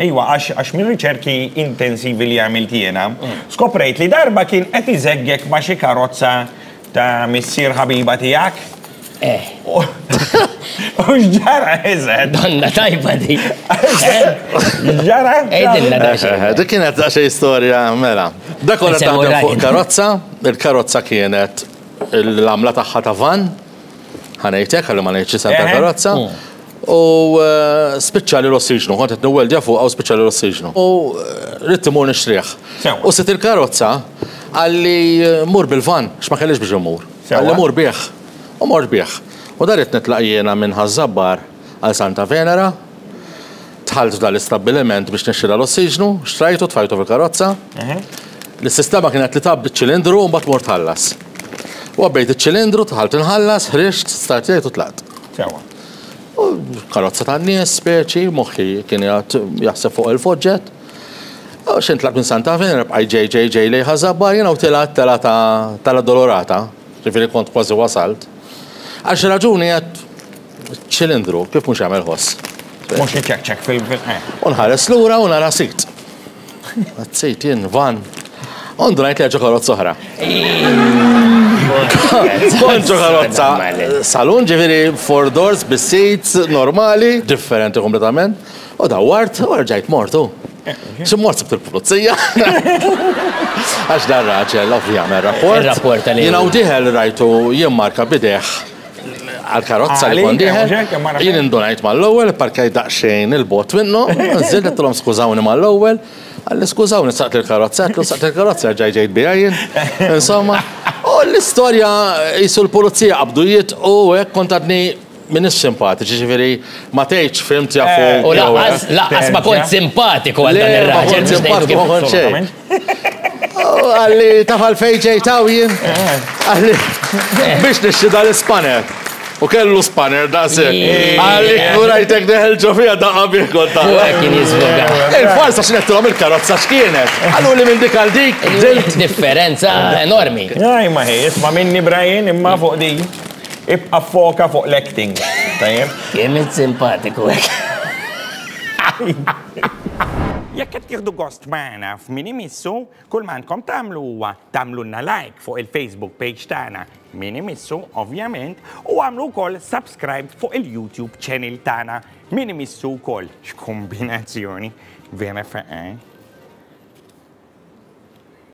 Iwa, għax minn riċerki intensivi li għamilt jiena, skoprejt li darba kien qed iżeggek ma' xi karozza ta' missier ħabiba tiegħek. Eh. U x'ġara eżatt? Donna tajba di. X'ġara? Għidilna daqsxejn. Eh, dik kienet daqsxejn storja mela. Dak konna Insemmu taħdem fuq Ryan. karozza, il-karozza kienet l-għamla tagħha ta' van, ħa ngħid hekk, ħalli ma ngħidx isem tal-karozza. U spiċċali l-ossiġnu, kont qed niweldja fuqha u spiċċali l-ossiġnu. U ridt immur nixtrih. U sid il-karozza qalli mur bil-van, għax ma kellix biex immur. Qalli mur bih. U mort bih. U dan ridt nitlaq jiena minn Ħaż-Żabbar għal Santa Venera. Dħalt f'dan l-istabbiliment biex nixtri dal-ossiġnu, xtrajtu, tfajtu fil-karozza. L-sistema kienet li tgħabbi ċ-ċilindru u mbagħad tmur tħallas. U għabbejt iċ-ċilindru, dħalt inħallas, ħriġt, startjajt u tlaqt. Sewwa. U karozza tan-nies, speċi, moħħi kien qiegħed jaħseb fuq il-foġġett. U xejn tlaqt minn Santa Venera bqajt ġej ġej ġej lejn Ħaż-Żabbar jiena u tilgħet telgħa ta' tal-Addolorata, ġifieri kont kważi wasalt. Għal xi raġuni għedt ċilindru, kif mhux jagħmel ħoss? Mhux iċekċek fil- eh. U nħares lura u nara sit. Għad sit jien van. U ndunajt li ġo karozza oħra. Kont ġo karozza salun, ġifieri four doors bis-seats normali, differenti kompletament. U dawwart u rġajt mortu. Xi mort sibt il-pulizija. Għax dan raġel ovvjament rapport. Ir-rapport għalih. Jiena u dieħel rajtu jimmarka b'idejh għal-karozza li kont dieħel. Jien indunajt mal-ewwel, parkajt daqsxejn il-bot minnu, nżilt għedtilhom skużawni mal-ewwel. Qalli skużawni saqt il-karozza, għedtlu saqt il-karozza rġajt ġejt biha jien. Insomma, u l-istorja qisu l-pulizija qabdu jitqu u hekk kont għadni m'iniex simpatiċi, ġifieri ma tgħidx fhimt jafu. U lanqas lanqas ma kont simpatiku għal dan ir-raġel. Le, ma kont simpatiku ma kont xejn. Qalli taf għalfejn ġejt hawn jien? Qalli biex nixtri dal-ispanner. U kellu spanner daqshekk. Qalli kieku rajtek deħel ġo fiha daqqa bih kont U hekk kien jiżvoga. Il-farsa x'nettilhom il-karozza x'kienet. Qaluli minn dik għal dik bdilt. Differenza enormi. Aj ma hi, isma' minni Brian imma fuq din. Ibqa' ffoka fuq l-acting. Tajjeb? Kemm int simpatiku hekk. Jekk qed tieħdu gost magħna f'Min Imissu, kull ma għandkom tagħmlu huwa tagħmlulna like fuq il-Facebook page tagħna Min Imissu, ovvjament, u agħmlu wkoll subscribe fuq il-YouTube channel tagħna Min Imissu wkoll. X'kombinazzjoni! Vera faqgħa.